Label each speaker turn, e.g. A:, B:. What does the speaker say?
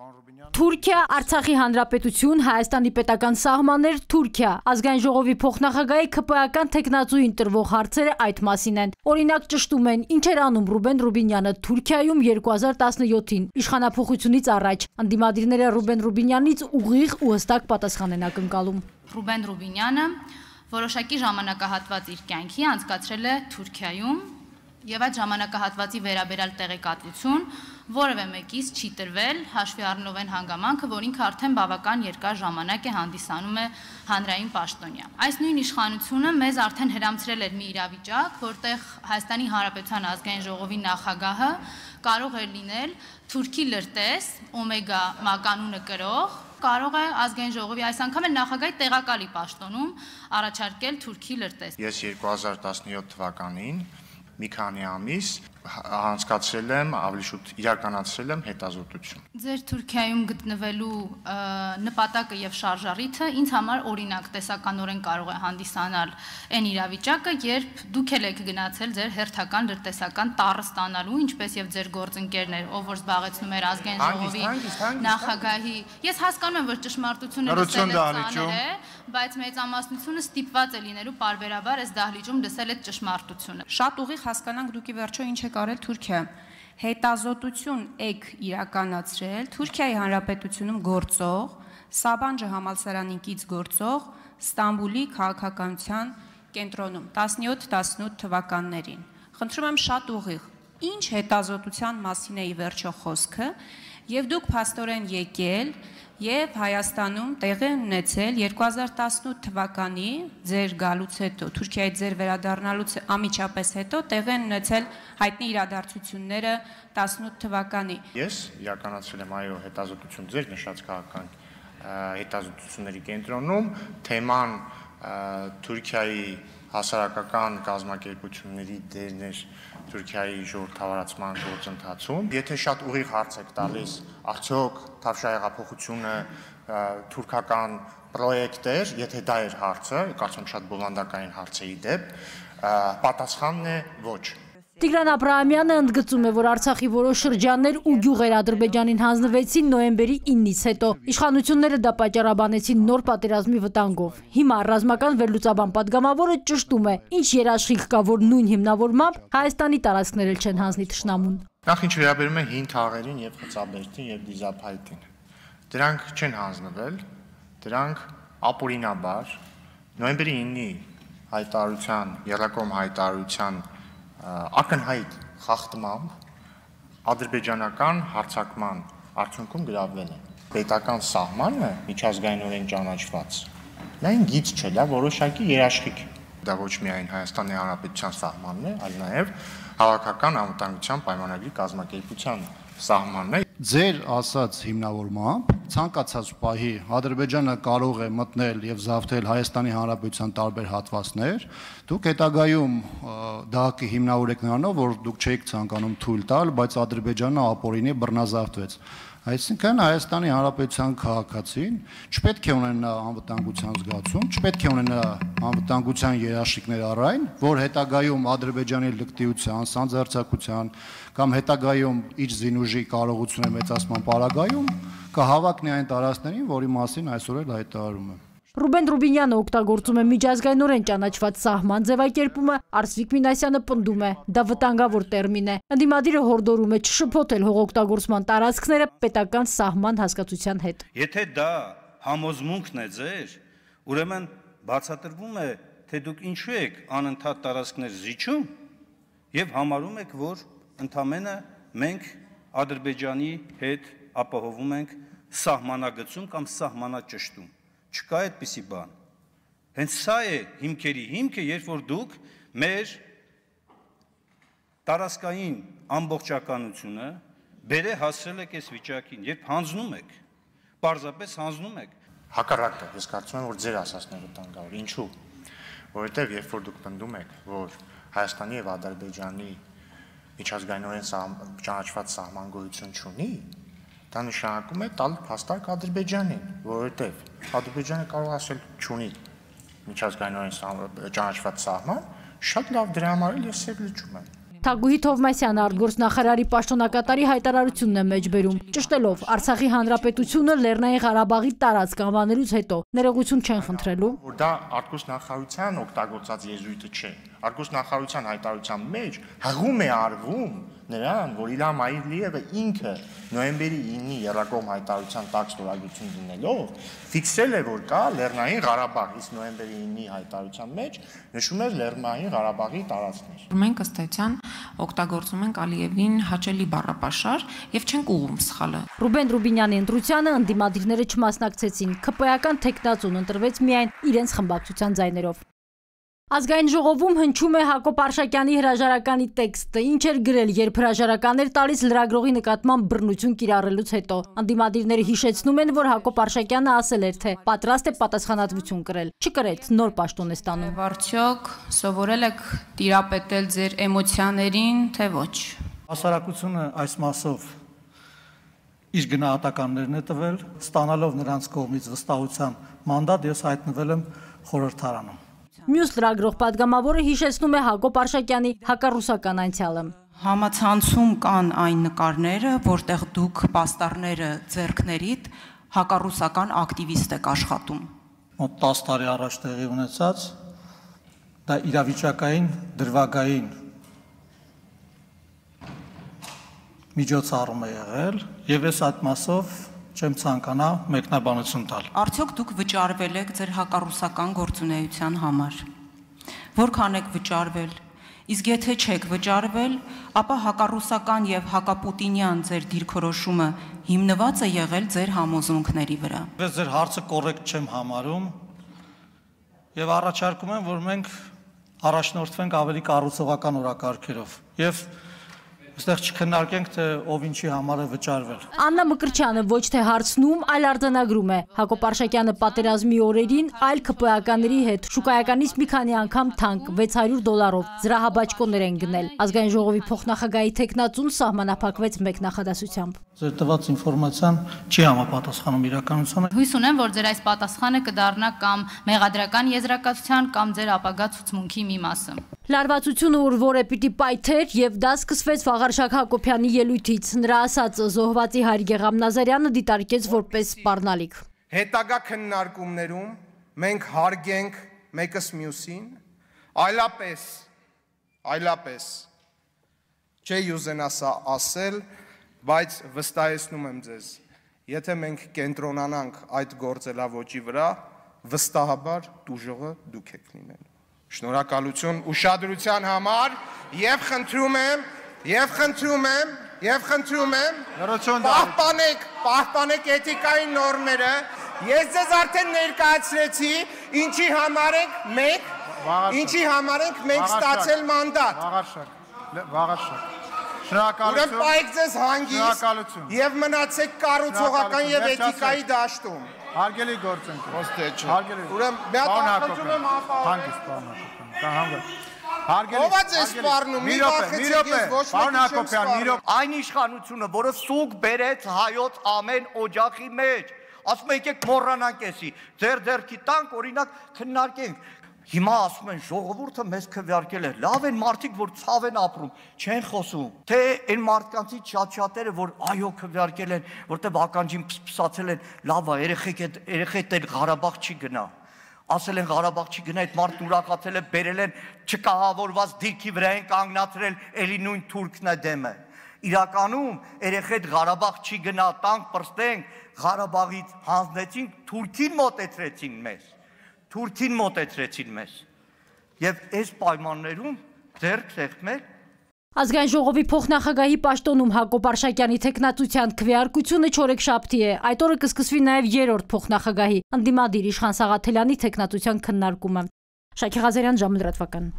A: Թուրքիա, Արցախի Հանրապետություն, Հայաստանի պետական սահմաններ, Թուրքիա, ազգային ժողովի փոխնախագահի ՔՊ-ական թեկնածուին տրվող հարցերը այդ մասին են։ Օրինակ ճշտում են, ինչ էր անում Ռուբեն Ռուբինյանը Թուրքիայում 2017-ին, իշխանափոխությունից առաջ։ Անդիմադիրները Ռուբեն Ռուբինյանից ուղիղ ու հստակ պատասխան են ակնկալում։
B: Ռուբեն Ռուբինյանը որոշակի ժամանակահատված իր կյանքի անցկացրել է Թուրքիայում եւ այդ ժամանակահատվածի վերաբերյալ տեղեկատվություն որևէ մեկից չի տրվել, հաշվի առնելով այն հանգամանքը, որ ինքը արդեն բավական երկար ժամանակ է հանդիսանում է հանրային պաշտոնյա։ Այս նույն իշխանությունը մեզ արդեն հրամցրել էր մի իրավիճակ, որտեղ Հայաստանի Հանրապետության ազգային ժողովի նախագահը կարող էր լինել թուրքի լրտես, օմեգա մականունը կրող, կարող է ազգային ժողովի այս անգամ էլ նախագահի տեղակալի պաշտոնում առաջարկել թուրքի լրտես։
C: Ես 2017 թվականին մի քանի ամիս անցկացրել եմ, ավելի շուտ իրականացրել եմ հետազոտություն։
B: Ձեր Թուրքիայում գտնվելու նպատակը եւ շարժառիթը ինձ համար օրինակ տեսականորեն կարող է հանդիսանալ այն իրավիճակը, երբ դուք եք գնացել ձեր հերթական լրտեսական տառը ստանալու, ինչպես եւ ձեր գործընկերներ, ով որ զբաղեցնում էր ազգային ժողովի նախագահի։ Ես հասկանում եմ, որ ճշմարտությունը լսել է, բայց մեծամասնությունը ստիպված է լինելու պարբերաբար այս դահլիճում լսել այդ ճշմարտությունը։
D: Շատ ուղիղ հասկանանք դուք ի վերջո ինչ եք արել Թուրքիա։ Հետազոտություն եք իրականացրել Թուրքիայի Հանրապետությունում գործող, Սաբանջը համալսարանին կից գործող Ստամբուլի քաղաքականության կենտրոնում 17-18 թվականներին։ Խնդրում եմ շատ ուղիղ, ինչ հետազոտության մասին է ի վերջո խոսքը, եւ դուք փաստորեն եկել եւ Հայաստանում տեղի ունեցել 2018 թվականի ձեր գալուց հետո, Թուրքիայի ձեր վերադառնալուց անմիջապես հետո տեղի ունեցել հայտնի իրադարձությունները 18 թվականի։
C: Ես իրականացրել եմ այո հետազոտություն ձեր նշած քաղաքական հետազոտությունների կենտրոնում, թեման Թուրքիայի հասարակական կազմակերպությունների դերն էր Թուրքիայի ժողովրդավարացման գործընթացում։ Եթե շատ ուղիղ հարց եք տալիս, արդյոք Թավշյա հեղափոխությունը թուրքական պրոյեկտ էր, եթե դա էր հարցը, կարծում եմ շատ բովանդակային հարց է ի դեպ, պատասխանն է ոչ։
A: Տիգրան Աբրահամյանը ընդգծում է, որ Արցախի որոշ շրջաններ ու գյուղեր Ադրբեջանին հանձնվեցին նոյեմբերի 9-ից հետո։ Իշխանությունները դա պատճառաբանեցին նոր պատերազմի վտանգով։ Հիմա ռազմական վերլուծաբան պատգամավորը ճշտում է, ինչ երաշխիք կա, որ նույն հիմնավորմամբ Հայաստանի տարածքներ էլ չեն հանձնի թշնամուն։
C: Նախ ինչ վերաբերում է հին թաղերին եւ խծաբերդին եւ դիզափայտին։ Դրանք չեն հանձնվել, դրանք ապօրինաբար նոյեմբերի 9-ի հայտարարության, եռակողմ հայտարարության ակնհայտ խախտմամբ ադրբեջանական հարձակման արդյունքում գրավվել են։ Պետական սահմանը միջազգայինորեն ճանաչված, դա այն գիծ չէ, դա որոշակի երաշխիք։ Դա ոչ միայն Հայաստանի Հանրապետության սահմանն է, այլ նաև Հավաքական անվտանգության պայմանագրի կազմակերպության սահմանն է։
E: Ձեր ասած հիմնավորմամբ ցանկացած պահի Ադրբեջանը կարող է մտնել եւ զավթել Հայաստանի Հանրապետության տարբեր հատվածներ, դուք հետագայում դա կհիմնավորեք նրանով, որ դուք չեք ցանկանում թույլ տալ, բայց Ադրբեջանը ապօրինի բռնազավթվեց։ Այսինքն Հայաստանի Հանրապետության քաղաքացին չպետք է ունենա անվտանգության զգացում, չպետք է ունենա անվտանգության երաշխիքներ առայն, որ հետագայում Ադրբեջանի լկտիության, սանձարձակության կամ հետագայում իր զինուժի կարողությունը մեծացման պարագայում կհավակնի այն տարածքներին, որի մասին այսօր էլ հայտարարում եմ։
A: Ռուբեն Ռուբինյանը օգտագործում է միջազգայինորեն ճանաչված սահման ձևակերպումը, Արսվիկ Մինասյանը պնդում է, դա վտանգավոր տերմին է։ Անդիմադիրը հորդորում է չշփոթել հողօգտագործման տարածքները պետական սահման հասկացության հետ։
F: Եթե դա համոզմունքն է ձեր, ուրեմն բացատրվում է, թե դուք ինչու եք անընդհատ տարածքներ զիջում եւ համարում եք, որ ընդամենը մենք Ադրբեջանի հետ ապահովում ենք սահմանագծում կամ սահմանաճշտում։ Չկա այդպիսի բան։ Հենց սա է հիմքերի հիմքը, երբ որ դուք մեր տարածքային ամբողջականությունը բերե հասրել եք այս վիճակին, երբ հանձնում եք, պարզապես հանձնում եք։
C: Հակառակը, ես կարծում եմ, որ ձեր ասածն է վտանգավոր։ Ինչու՞։ Որովհետև երբ որ դուք պնդում եք, որ Հայաստանի եւ Ադրբեջանի միջազգայինորեն ճանաչված սահման գոյություն չունի, դա նշանակում է տալ փաստարկ Ադրբեջանին, որովհետև Ադրբեջանը կարող ասել չունի միջազգայինորեն ճանաչված սահման, շատ լավ դրա համար էլ ես եւ լճում եմ։
A: Թագուհի Թովմասյանը արտգործնախարարի պաշտոնակատարի հայտարարությունն է մեջբերում, ճշտելով Արցախի հանրապետությունը Լեռնային Ղարաբաղի տարածք անվանելուց հետո ներողություն չեն խնդրելու։
C: Որ դա արտգործնախարարության օգտագործած եզրույթը չէ։ Արտգործնախարարության հայտարարության մեջ հղում է արվում նրան, որ Իլհամ Ալիևը ինքը նոյեմբերի 9-ի Եռակողմ հայտարարության տակ ստորագրություն դնելով ֆիքսել է, որ կա Լեռնային Ղարաբաղ, իսկ նոյեմբերի 9-ի հայտարարության մեջ նշում էր Լեռնային Ղարաբաղի տարածքներ։
G: Մենք ըստ էության օգտագործում ենք Ալիևին հաճելի բառապաշար եւ չենք ուղղում սխալը։
A: Ռուբեն Ռուբինյանի ընտրությանը ընդդիմադիրները չմասնակցեցին, ՔՊ-ական տեխնացուն ընտրվեց միայն իրենց խմբակցության ձայներով։ Ազգային ժողովում հնչում է Հակոբ Արշակյանի հրաժարականի տեքստը, ինչ էր գրել, երբ հրաժարականներ տալիս լրագրողի նկատմամբ բռնություն կիրառելուց հետո։ Ընդդիմադիրները հիշեցնում են, որ Հակոբ Արշակյանը ասել էր, թե պատրաստ է պատասխանատվություն կրել, չկրեց, նոր պաշտոն է ստանում։
D: Արդյոք սովորել եք տիրապետել ձեր էմոցիաներին, թե ոչ։
H: Հասարակությունը այս մասով իր գնահատականներն է տվել, ստանալով նրանց կողմից վստահության մանդատ, ես հայտնվել եմ խորհրդարանում։
A: Մյուս լրագրող պատգամավորը հիշեցնում է Հակոբ Արշակյանի հակառուսական անցյալը։
D: Համացանցում կան այն նկարները, որտեղ դուք պաստառները ձեռքներիդ հակառուսական ակտիվիստ եք աշխատում։
H: Մոտ 10 տարի առաջ տեղի ունեցած, դա իրավիճակային, դրվագային միջոցառում է եղել, եւ ես այդ մասով չեմ ցանկանա մեկնաբանություն տալ։
D: Արդյոք դուք վճարվել եք ձեր հակառուսական գործունեության համար։ Որքան եք վճարվել։ Իսկ եթե չեք վճարվել, ապա հակառուսական եւ հակապուտինյան ձեր դիրքորոշումը հիմնված է եղել ձեր համոզմունքների վրա։
H: Ես ձեր հարցը կոռեկտ չեմ համարում եւ առաջարկում եմ, որ մենք առաջնորդվենք ավելի կառուցողական օրակարգերով եւ այստեղ չքննարկենք, թե ով ինչի համար է վճարվել։
A: Աննա Մկրտչյանը ոչ թե հարցնում, այլ արձանագրում է։ Հակոբ Արշակյանը պատերազմի օրերին այլ ՔՊ-ականների հետ շուկայականից մի քանի անգամ թանկ $600 զրահաբաճկոներ են գնել։ Ազգային ժողովի փոխնախագահի տեխնացուն սահմանափակվեց մեկ նախադասությամբ։
H: Ձեր տված ինֆորմացիան չի համապատասխանում իրականությանը։
B: Հույս ունեմ, որ ձեր այս պատասխանը կդառնա կամ մեղադրական եզրակացության կամ ձեր ապագա ցուցմունքի մի մասը։
A: Լարվածությունը ուրվոր է պիտի պայթեր եւ դա սկսվեց Վաղարշակ Հակոբյանի ելույթից։ Նրա ասածը զոհվածի հայր Գեգամ Նազարյանը դիտարկեց որպես սպառնալիք։
I: Հետագա քննարկումներում մենք հարգենք մեկս մյուսին, այլապես չի ուզենա սա ասել, բայց վստահեցնում եմ ձեզ, եթե մենք կենտրոնանանք այդ գործելավոճի վրա, վստահաբար տուժողը դուք եք լինելու։ Շնորհակալություն ուշադրության համար եւ խնդրում եմ պահպանեք էթիկայի նորմերը։ Ես ձեզ արդեն ներկայացրեցի, ինչի համար ենք մենք ստացել մանդատ։
C: Վաղարշակ։
I: Ուրեմն պայեք ձեզ հանգիստ եւ մնացեք կառուցողական եւ էթիկայի դաշտում։
C: Հարգելի գործընկեր։
I: Ոստե չէ։
C: Ուրեմն
I: մի հատ խնդրում եմ
C: հանգիստ պարոն Հակոբյան։ Հարգելի։
I: Ով է ձեզ սպառնում։ Մի րոպե,
C: պարոն Հակոբյան, մի րոպե։
J: Այն իշխանությունը, որը սուկ բերեց հայոց ամեն օջախի մեջ, ասում եկեք մոռանանք էսի, ձեր ձեռքի տանք, օրինակ քննարկենք։ Հիմա ասում են ժողովուրդը մեզ քվեարկել է, լավ են մարդիկ, որ ցավ են ապրում, չեն խոսում, թե այն մարդկանցից շատ-շատերը, որ այո քվեարկել են, որտեղ ականջին փսփսացել են, լավ է, երեխեքդ Ղարաբաղ չի գնա, ասել են Ղարաբաղ չի գնա, այդ մարդն ուրախացել է, բերել են չկահավորված դիրքի վրա են կանգնացրել, էլի նույն թուրքն է դեմը։ Իրականում երեխեդ Ղարաբաղ չի գնա, տանք պրստենք, Ղարաբաղից հանձնեցինք, Թուրքին մոտեցրեցին մեզ, և այս պայմաններում ձեռք սեղմել։
A: Ազգային ժողովի փոխնախագահի պաշտոնում Հակոբ Արշակյանի տեխնացության քվեարկությունը չորեքշաբթի է, այդ օրը կսկսվի նաև երրորդ փոխնախագահի ընդդիմադիր Իշխան Սաղաթելյանի տեխնացության քննարկումը։ Շակե Ղազարյան, ժամը լրատվական։